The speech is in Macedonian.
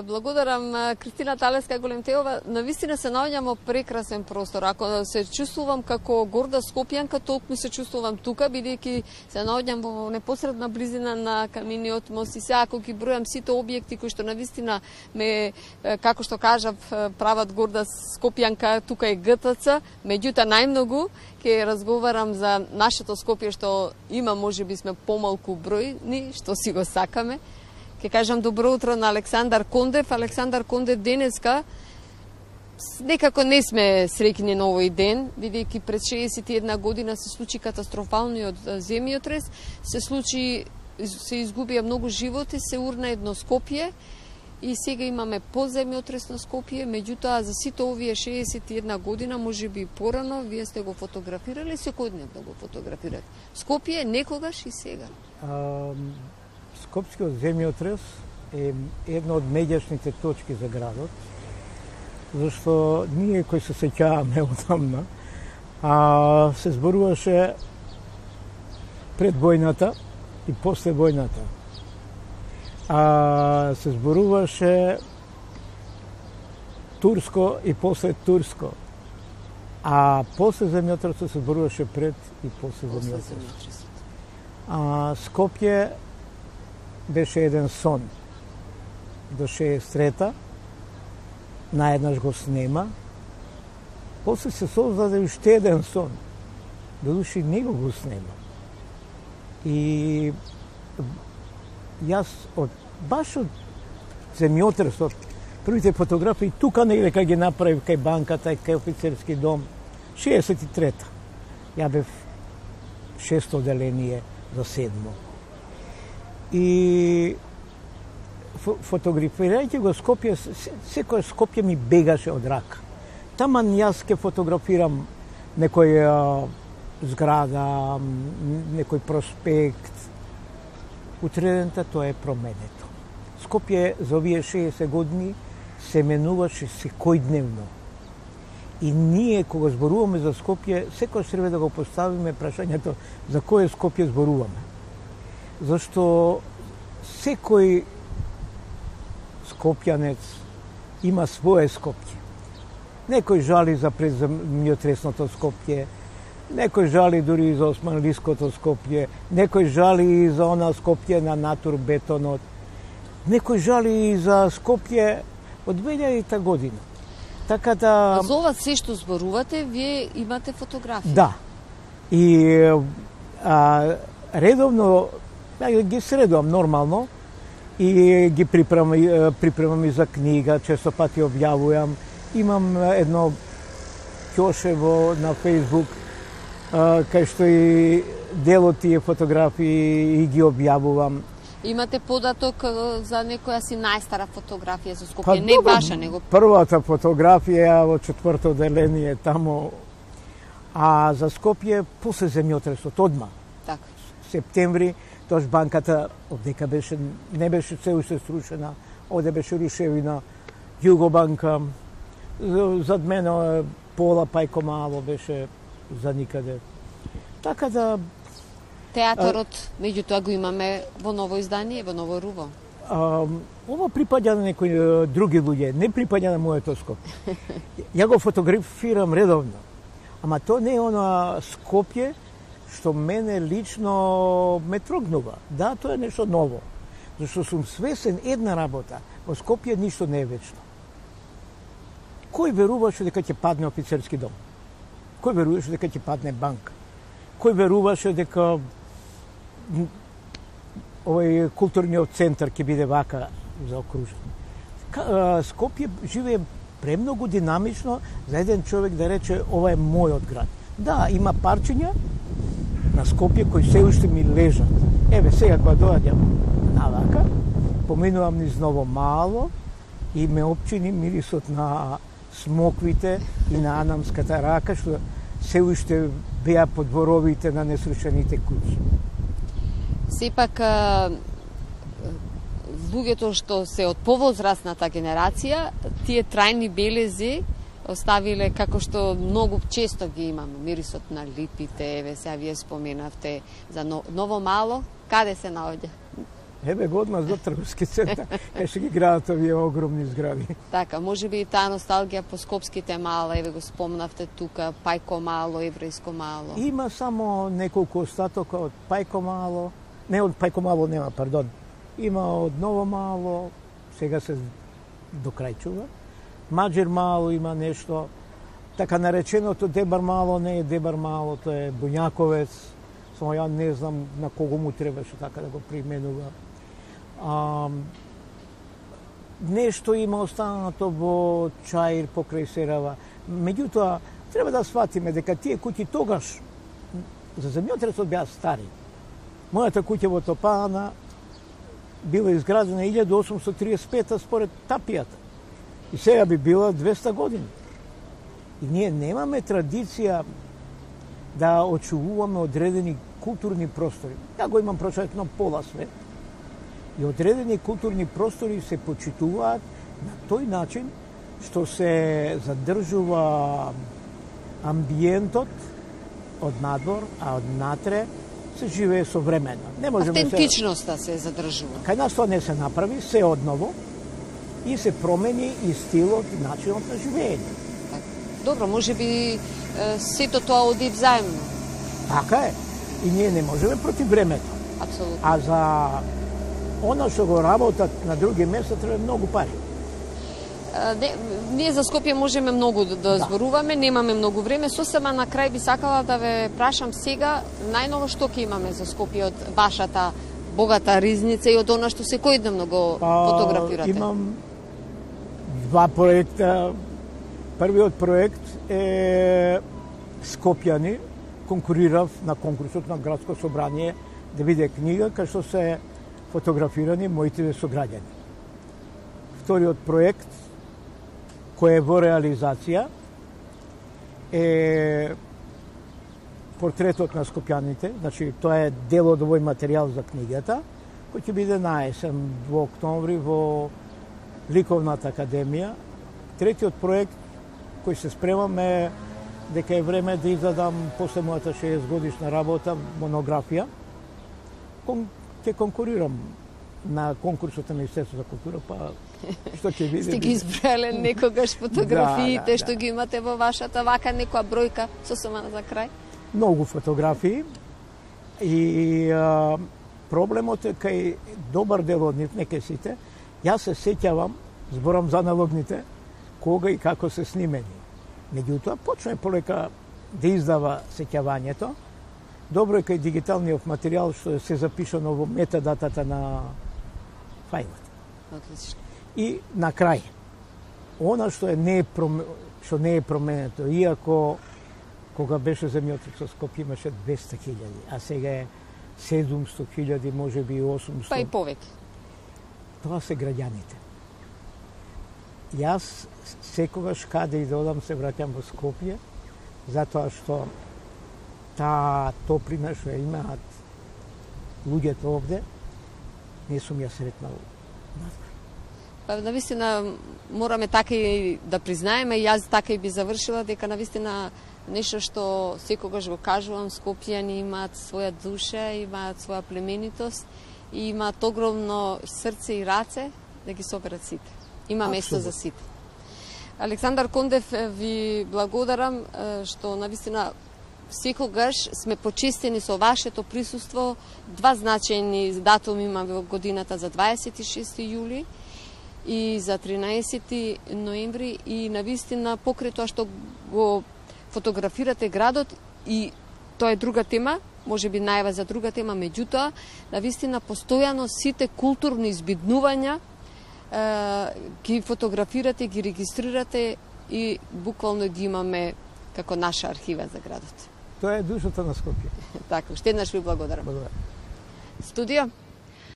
Благодарам Кристина Талеска Големтеова. Навистина се наоѓам прекрасен простор. Ако се чувствувам како горда скопјанка, толку се чувствувам тука, бидејќи се наоѓам во непосредна близина на камениот мост и се ако ги бројам сите објекти кои што навистина ме, како што кажав, прават горда скопјанка, тука е ГТЦ, меѓутоа најмногу ќе разговарам за нашето Скопје што има, можеби сме помалку бројни, што си го сакаме. Ке кажам добро утро на Александар Кондев. Александар Кондев денеска некако не сме среќни на овој ден, бидејќи пред 61 година се случи катастрофалниот земјотрес, се изгубија многу животи, се урна едно Скопје и сега имаме поземјотрес на Скопје, меѓутоа за сите овие 61 година, можеби порано, вие сте го фотографирали, секојдневно го фотографирате. Скопје некогаш и сега. Скопскиот земјотрес е една од меѓашните точки за градот, зашто ние кои се сеќаваме одамна, се зборуваше пред војната и после војната. Се зборуваше турско и после турско. А после земјотресот се зборуваше пред и после земјотресот. Скопје беше еден сон. До 63-та, наеднаш го снема. После се создаде уште еден сон. Додуши него го снема. И јас баш од земјотресот, првите фотографии тука негде кај ги направив кај банката и кај офицерски дом, 63-та. Ја бев 6-то оделение за 7-мо. И фотографирајќи го Скопје, секој Скопје ми бегаше од рака. Таман јас ке фотографирам некој зграда, некој проспект. Утредента тоа е променето. Скопје за овие 60 години се менуваше секојдневно. И ние, кога зборуваме за Скопје, секој треба да го поставиме прашањето за кој Скопје зборуваме. Зашто секој скопјанец има свое Скопје. Некој жали за преземјотресното Скопје, некој жали дури и за османлиското Скопје, некој жали и за она Скопје на натурбетонот, некој жали и за Скопје од 2000 година. Така да... За ова се што зборувате, вие имате фотографии? Да. И редовно ги средувам нормално и ги припремам и за книга, често пати објавувам. Имам едно ќошево на Facebook, кај што и дел од тие фотографии и ги објавувам. Имате податок за некоја си најстара фотографија за Скопје, не ваша, него... Првата фотографија во 4-то оделение тамо, а за Скопје после земјотресот одма. Така. Септември, тоаш банката одека беше, не беше се уште срушена, оде беше рушевина, Југобанка, зад мене Пола Пајко Мало беше за никаде. Така да... Театарот, меѓутоа го имаме во ново издание, во ново руво. Ова припаѓа на некои други луѓе, не припаѓа на моето Скопје. Ја го фотографирам редовно, ама тоа не е она Скопје што мене лично ме трогнува. Да, тоа е нешто ново. Зашто сум свесен една работа, во Скопје ништо не е вечно. Кој веруваше дека ќе падне офицерски дом? Кој веруваше дека ќе падне банка? Кој веруваше дека овој културниот центар ќе биде вака заокружен? Скопје живее премногу динамично за еден човек да рече ова е мојот град. Да, има парчиња на Скопје кои се уште ми лежат. Еве сега кога доаѓам навака, поминувам низ Ново Мало и ме опчини мирисот на смоквите и на анамската рака што се уште беа под дворовите на несрушените куќи. Сепак, луѓето што се од повозрастната генерација, тие трајни белези оставиле, како што многу често ги имаме, мирисот на липите, еве сега вие споменавте за Ново Мало, каде се наоѓа? Ебе го одма за трговски центар, еше ги градат овие огромни згради. Така, може би и таа носталгија по скопските мала, еве го спомнавте тука, Пајко мало, Еврејско мало. Има само неколку остатока од Пајко мало, не од Пајко мало нема, пардон. Има од Ново мало, сега се докрајчува. Маџер мало има нешто, така нареченото Дебар мало не е Дебар мало, тоа е Буњаковец, само ја не знам на кого му требаше така да го применува. Нешто има останато во Чаир покрај Серава. Меѓутоа, треба да сватиме дека тие куќи тогаш за земјотресот беа стари. Мојата куќа во Топана била изградена 1835 според тапијата. И сега би била 200 години. И ние немаме традиција да очувуваме одредени културни простори. Ја го имам прочетно пола свет. И одредени културни простори се почитуваат на тој начин што се задржува амбиентот од надвор, а од натре се живее современо. Не можеме автентичноста се задржува. Кај нас тоа не се направи, се одново и се промени и стилот и начинот на живење. Добро, може би сето тоа оди взаимно. Така е. И ние не можеме против времето. Апсолутно. А за оно што го работат на други места треба многу пари. Ние за Скопје можеме многу да зборуваме, немаме многу време. Сосема на крај би сакала да ве прашам сега, најново што ќе имаме за Скопје од вашата богата ризница и од она што секојдневно го фотографирате? Имам два проекта. Првиот проект е Скопјани. Конкурирав на конкурсот на Градско собрание да биде книга кај што се фотографирани моите сограѓани. Вториот проект, кој е во реализација, е портретот на скопјаните, значи тоа е дел од овој материјал за книгата, кој ќе биде на есен во октомври во Ликовната академија. Третиот проект кој се спремам е дека е време да издадам после мојата 60 годишна работа монографија. Ќе конкурирам на конкурсот на Министерството за култура, па што ќе биде. Сте ги избрале некогаш фотографиите што ги имате во вашата вака некоја бројка сосема за крај? Многу фотографии и проблемот е кај добар дел од нив, не кај сите. Јас се сеќавам, зборам за аналогните, кога и како се снимени. Меѓутоа, почне полека да издава сеќавањето. Добро е кај дигиталниот материјал што се запишано во метадатата на фајлот. Отлично. И на крај, она што не е променето, иако кога беше земјотресот Скопје имаше 200.000, а сега е 700.000, може би 800. Па и повеќе. Тоа се граѓаните. Јас секогаш каде и да одам се враќам во Скопје, затоа што таа топлина што ја имаат луѓето овде, не сум ја сретнал надвор. Па навистина мораме така и да признаеме, и јас така и би завршила, дека навистина нешто што секогаш го кажувам, скопјани имаат своја душа, имаат своја племенитост и имаат огромно срце и раце да ги соберат сите. Има место за сите. Александар Кондев, ви благодарам што навистина секогаш сме почестени со вашето присуство. Два значајни датуми имаме во годината за 26 јули и за 13 ноември и навистина покрај тоа што го фотографирате градот и тоа е друга тема, може би најава за друга тема, меѓутоа навистина постојано сите културни избиднувања ги фотографирате, ги регистрирате и буквално ги имаме како наша архива за градот. Тоа е душата на Скопје. Така, уште еднаш ви благодарам. Благодарам. Студио.